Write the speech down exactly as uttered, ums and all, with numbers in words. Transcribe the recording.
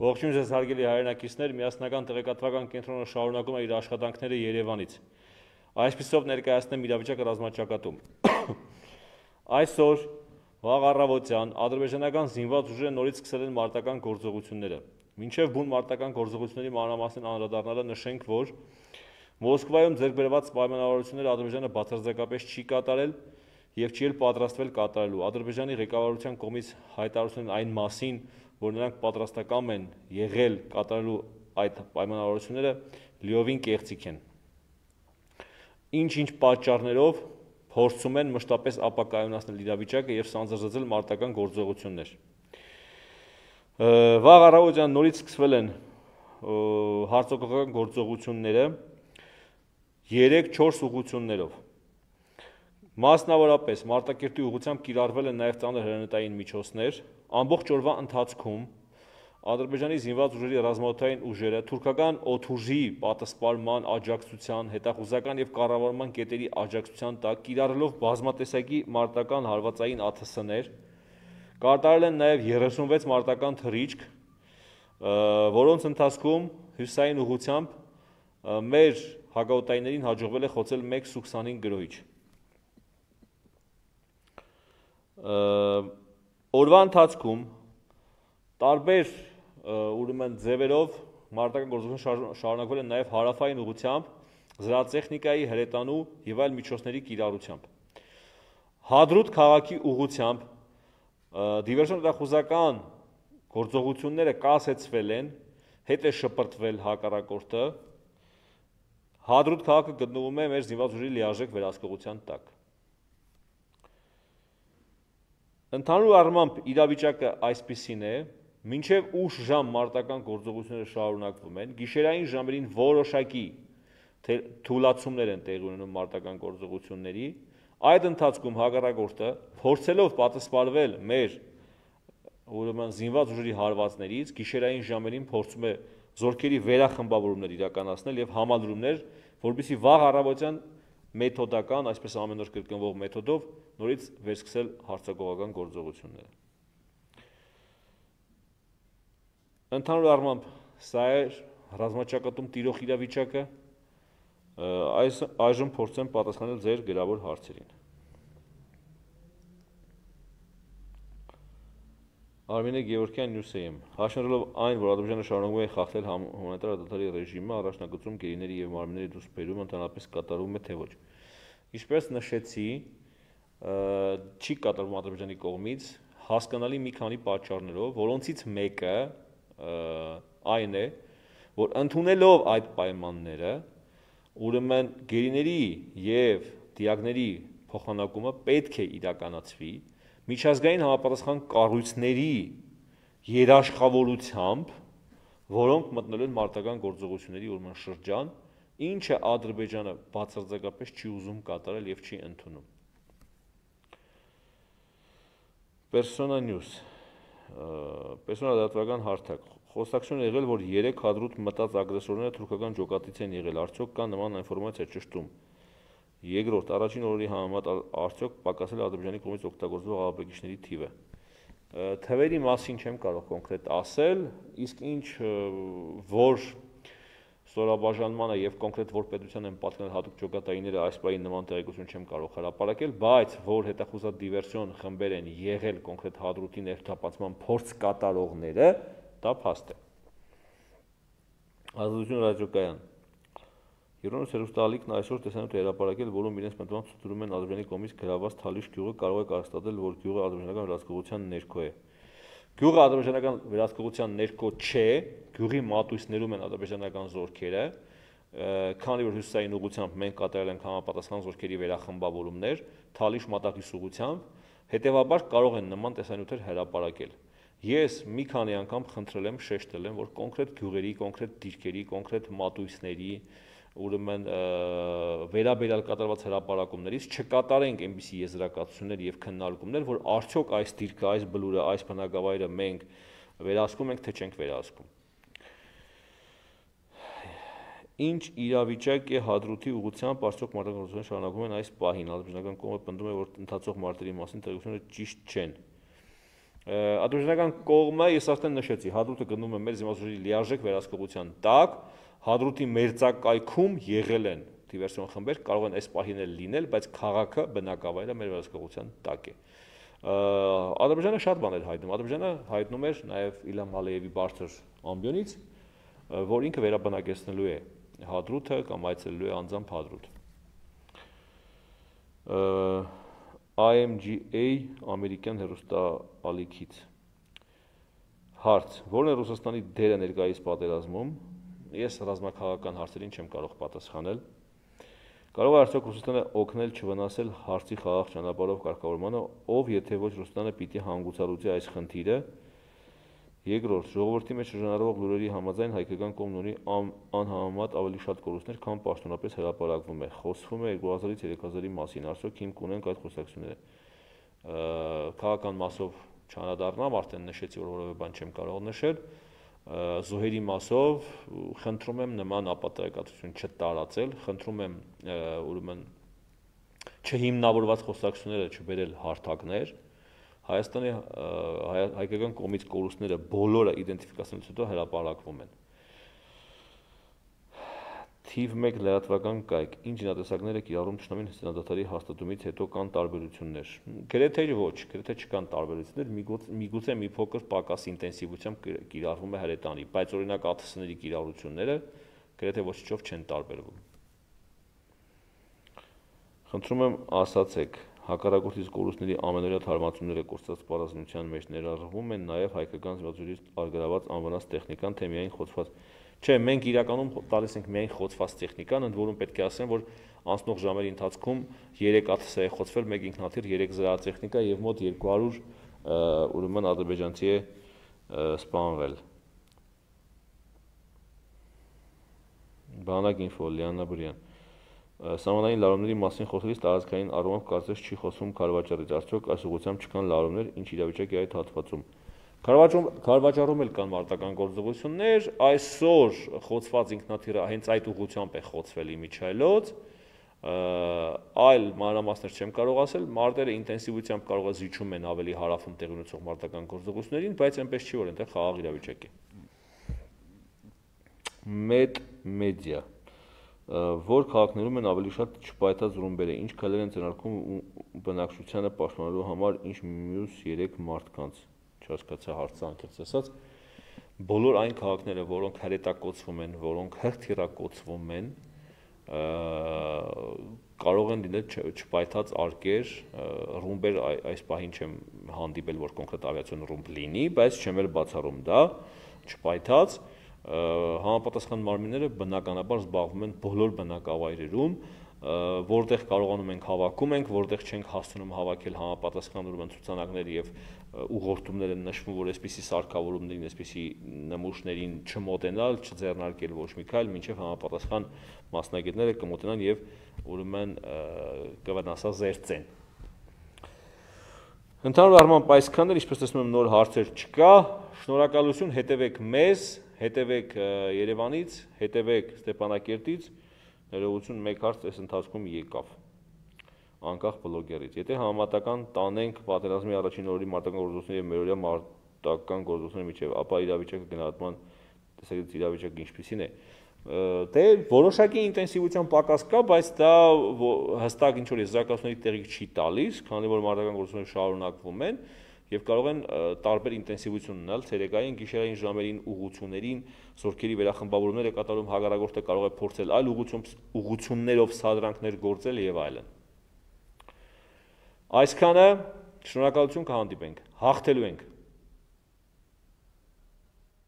Ողջույն ձեզ հարգելի հայրենակիցներ, միասնական տեղեկատվական կենտրոնը շարունակում է իր աշխատանքները Երևանից։ Այսպիսով ներկայացնեմ իրավիճակը ռազմաճակատում։ Այսօր վաղ առավոտյան ադրբեջանական զինված ուժերը նորից սկսել են մարտական գործողությունները։ Մինչև բուն մարտական գործողությունների մանրամասն անդրադառնալը նշենք, որ Մոսկվայում ձեռք բերված պայմանավորությունները Ադրբեջանը բացարձակապես չի կատարել եւ չի էլ պատրաստվել կատարելու։ Ադրբեջանի ղեկավարության կողմից հայտարարությունն այն մասին, որ նրանք պատրաստակամ են եղել կատարելու այդ պայմանավորությունները, լիովին կեղծիք են։ Ինչ-ինչ պատճառներով փորձում են մշտապես ապակայունացնել իրավիճակը եւ սանձազերծել մարտական գործողություններ։ Վաղ առավոտյան նորից սկսվել են հարձակողական գործողությունները երեք-չորս ուղղություններով։ Մասնավորապես Մարտակերտի ուղղությամբ կիրառվել են նաև ծանր հրետանային միջոցներ։ Ամբողջ օրվա ընթացքում Ադրբեջանի զինված ուժերի ռազմաօդային ուժերը թուրքական օդուժի պատասպարման աջակցության, հետախուզական եւ կառավարման կետերի աջակցության տակ կիրառելով բազմատեսակի մարտական հարվածային ԱԹՍ-ներ, կատարել են նաև երեսունվեց մարտական թռիչք, որոնց ընթացքում հյուսային ուղղությամբ մեր հակաօդայիններին հաջողվել է խոցել մեկ Սու քսանհինգ գրոհիչ։ Օրվա ընթացքում տարբեր ուրեմն ձևերով մարտական գործողություններ շարունակվել են նաև հարավային ուղղությամբ, զրահատեխնիկայի, հրետանու եւ այլ միջոցների կիրառությամբ։ Հադրութ քաղաքի ուղղությամբ դիվերսիոն հետախուզական գործողությունները կասեցվել են, հետ է շպրտվել հակառակորդը։ Հադրութ քաղաքը գտնվում է մեր զինված ուժերի լիարժեք վերահսկողության տակ։ Ընդհանուր առմամբ իրավիճակը այսպիսին է, մինչև ուշ ժամ մարտական գործողությունները շարունակվում են, գիշերային ժամերին որոշակի թուլացումներ են տեղի ունենում մարտական գործողությունների, այդ ընթացքում հակառակորդը փորձելով պատասպարվել մեր ուրեմն զինված ուժերի հարվածներից, գիշերային ժամերին փորձում է զորքերի վերախմբավորումներ իրականացնել եւ համալրումներ, որպեսզի վաղ առավոտյան մեթոդական, այսպես ամեն օր կրկնվող մեթոդով նորից վերսկսել հարձակողական գործողությունները։ Ընդհանուր առմամբ սա է ռազմաճակատում տիրող իրավիճակը, այս այժմ փորձեմ պատասխանել ձեր գրավոր հարցերին։ Արմինե Գևորգյան, Նյուսեյեմ, հաշվելով այն, որ Ադրբեջանը շարունակում է խախտել հումանիտար դատարանի ռեժիմը, առաջնագծում գերիների եւ մարմինների դուսպերումը ընդհանրապես կատարվում է թե ոչ։ Ինչպես նշեցի, չի կատարվում Ադրբեջանի կողմից հասկանալի մի քանի պատճառներով, որոնցից մեկը այն է, որ ընդունելով այդ պայմանները, ուրեմն գերիների եւ դիակների փոխանակումը պետք է իրականացվի միջազգային համապատասխան կառույցների երաշխավորությամբ, որոնք մտնել են մարտական գործողությունների ուրեմն շրջան, ինչը Ադրբեջանը բացարձակապես չի ուզում կատարել եւ չի ընդունում։ Persona News, Persona լրատվական հարթակ, խոսակցություն եղել, որ երեք Հադրութ մտած ագրեսորները թուրքական ջոկատից են եղել, արդյոք կա նման ինֆորմացիա ճշտում։ Երկրորդ, առաջին օրերի համեմատ արդյոք պակասել Ադրբեջանի կողմից օգտագործվող աղաբեկիչների թիվը։ Թվերի մասին չեմ կարող կոնկրետ ասել, իսկ ինչ որ ստորաբաժանմանը եւ կոնկրետ որ պետության են պատկանել հատուկ ջոկատայինները այս բանի նման տեղեկություն չեմ կարող հրապարակել, բայց որ հետախուզած դիվերսիոն խմբեր են եղել կոնկրետ Հադրութի ներթափանցման փորձ կատարողները, դա փաստ է։ Ազատություն ռադիոկայան Եվրոպոս հեռուստաալիքն այսօր տեսանյութ է հրապարակել, որում իրենց մտմամբ ցույցում են Ադրբեջանի կողմից գրաված Թալիշ գյուղը կարող է կարծրատել, որ գյուղը ադրբեջանական վերահսկողության ներքո է։ Գյուղը ադրբեջանական վերահսկողության ներքո չէ, գյուղի մատույցներում են ադրբեջանական զորքերը, քանի որ հյուսիսային ուղղությամբ մենք կատարել ենք համապատասխան զորքերի վերախմբավորումներ, Թալիշ մատաղիս ուղղությամբ, հետևաբար կարող են նման տեսանյութեր հրապարակել։ Ես մի քանի անգամ խնդրել եմ, շեշտել եմ, որ կոնկրետ գյուղերի, կոնկրետ դիրքերի, կոնկրետ մատույցների ուրեմն վերաբերյալ կատարված հրապարակումներից չկատարենք այնպիսի եզրակացություններ եւ քննարկումներ, որ արդյոք այս դիրքը, այս բլուրը, այս բնակավայրը մենք վերահսկում ենք, թե չենք վերահսկում։ Ինչ իրավիճակ է Հադրութի ուղղությամբ արդյոք մարտական գործողությունները շարունակվում են այս պահին։ Ադրբեջանական կողմը պնդում է, որ ընթացող մարտերի մասին տեղեկությունները ճիշտ չեն։ Ադրբեջանական կողմը ես արդեն նշեցի, Հադրութը գնում է մեր զինվորների լիարժեք վերահսկողության տակ, Հադրութի մերձակայքում եղել են դիվերսիոն խմբեր, կարող են այս պահին լինել, բայց քաղաքը բնակավայրը մեր վերահսկողության տակ է։ Ադրբեջանը շատ բաներ հայտնում, Ադրբեջանը հայտնում էր նաև Իլհամ Ալիևի բարձր ամբիոնից, որ ինքը վերաբնակեցնելու է Հադրութը կամ այցելելու է անձամբ Հադրութ։ I M G A ամերիկյան հեռուստաալիքից հարց, որն է Ռուսաստանի դերը ներկայիս պատերազմում, ես ռազմաքաղաքական հարցերին չեմ կարող պատասխանել։ Կարող է արդյոք Ռուսաստանը օգնել չվնասել հարցի խաղաղ ճանապարհով կարգավորմանը, ով եթե ոչ Ռուսաստանը պիտի հանգուցալուծի այս խնդիրը։ Երկրորդ, ժողովրդի մեջ շրջանառվող լուրերի համաձայն հայկական կողմն ունի անհամեմատ ավելի շատ կորուստներ, քան պաշտոնապես հրապարակվում է։ Խոսվում է երկու հազարից երեք հազարի մասին, արդյոք հիմք ունենք այդ խոսակցությունները։ Քաղաքական մասով չանդրադառնամ, արդեն նշեցի, որ որևէ բան չեմ կարող նշել։ Զոհերի մասով խնդրում եմ նման ապատեգատություն չտարածել, խնդրում եմ ուրեմն չհիմնավորված խոսակցությունները չբերել հարթակներ։ Հայաստանի հայկական կողմից կորուստները բոլորը իդենտիֆիկացնելուց հետո հրապարակվում են։ Թիվ մեկ լրատվական կայք, ինչ զինատեսակներ է կիրառում թշնամին հսկայադատարի հաստատումից հետո կան տարբերություններ։ Գրեթե ոչ, գրեթե չկան տարբերություններ, միգուցե մի փոքր պակաս ինտենսիվությամբ կիրառվում է հրետանի, բայց օրինակ A T S-ների կիրառությունները գրեթե ոչինչով չեն տարբերվում։ Խնդրում եմ ասացեք, հակառակորդից կորուստների ամենօրյա թարմացումները կորցրած պարզնության մեջ ներառվում են նաև հայկական զինվորությունից արգելված անվնաս տեխնիկան, թե միայն խոցված։ Չէ, մենք իրականում տալիս ենք միայն խոցված տեխնիկան, ընդ որում պետք է ասեմ, որ անցնող ժամերի ընթացքում երեք A T S է խոցվել, մեկ ինքնաթիռ, երեք զրահատեխնիկա եւ մոտ երկու հարյուր ուրեմն ադրբեջանցի է սպանվել։ Բանակ ինֆո, Լիանա Բրյան։ Սահմանային լարումների մասին խոսելիս տարածքային առումով կարծես չի խոսում քարվաճառից, արդյոք այս ուղղությամբ չկան լարումներ, ինչ իրավիճակ է այդ հատվածում։ Քարվաճառում էլ կան մարտական գործողություններ, այսօր խոցված ինքնաթիռը հենց այդ ուղղությամբ է խոցվել իմիջայլոց, այլ մանրամասներ չեմ կարող ասել, մարտերը ինտենսիվությամբ կարող է զիջում են ավելի հարավում տեղի ունեցող մարտական գործողություններին, բայց այնպես չի, որ այնտեղ խաղաղ իրավիճակ է։ Մեդ մեդիա, որ քաղաքներում են ավելի շատ չպայթած ռումբերը, ինչ քայլեր են ձեռնարկում բնակչությանը պաշտպանելու համար, ինչ մյուս երեք մարդկանց, չհասկացա հարցը անկեղծ ասած, բոլոր այն քաղաքները, որոնք հրետակոծվում են, որոնք հրթիռակոծվում են, կարող են լինել չպայթած արկեր, ռումբեր այս պահին չեմ հանդիպել, որ կոնկրետ ավիացիոն ռումբ լինի, բայց չեմ էլ բացառում դա, չպայթած, համապատասխան մարմինները բնականաբար զբաղվում են բոլոր բնակավայրերում, որտեղ կարողանում ենք հավաքում ենք, որտեղ չենք հասցնում հավաքել համապատասխան ուրեմն ցուցանակներ եւ ուղղորդումներ են նշվում, որ այսպիսի սարքավորումներին, այսպիսի նմուշներին չմոտենալ, չձեռնարկել ոչ մի քայլ, մինչեւ համապատասխան մասնագետները կմոտենան եւ ուրեմն կվնասազերծեն։ Ընդհանուր առմամբ այսքանն էր, ինչպես տեսնում եմ նոր հարցեր չկա, շնորհակալություն, հետևեք մեզ, հետևեք Երևանից, հետևեք Ստեփանակերտից, ներողություն մեկ հարց այս ընթացքում եկավ, անկախ բլոգերից, եթե համեմատական տանենք պատերազմի առաջին օրերի մարտական գործողությունների եւ մերօրյա մարտական գործողությունների միջեւ, ապա իրավիճակը գնահատման տեսակետից իրավիճակը ինչպիսին է, դե որոշակի ինտենսիվության պակաս կա, բայց դա հստակ ինչ որ եզրակացությունների տեղիք չի տալիս, քանի որ մարտական գործողությունները շարունակվում են եւ կարող են տարբեր ինտենսիվություն ունենալ ցերեկային գիշերային ժամերին ուղղություններին, զորքերի վերախմբավորումներ է կատարում, հակառակորդը կարող է փորձել այլ ուղղություններով սադրանքներ գործել եւ այլն։ Այսքանը, շնորհակալություն, կհանդիպենք, հաղթելու ենք։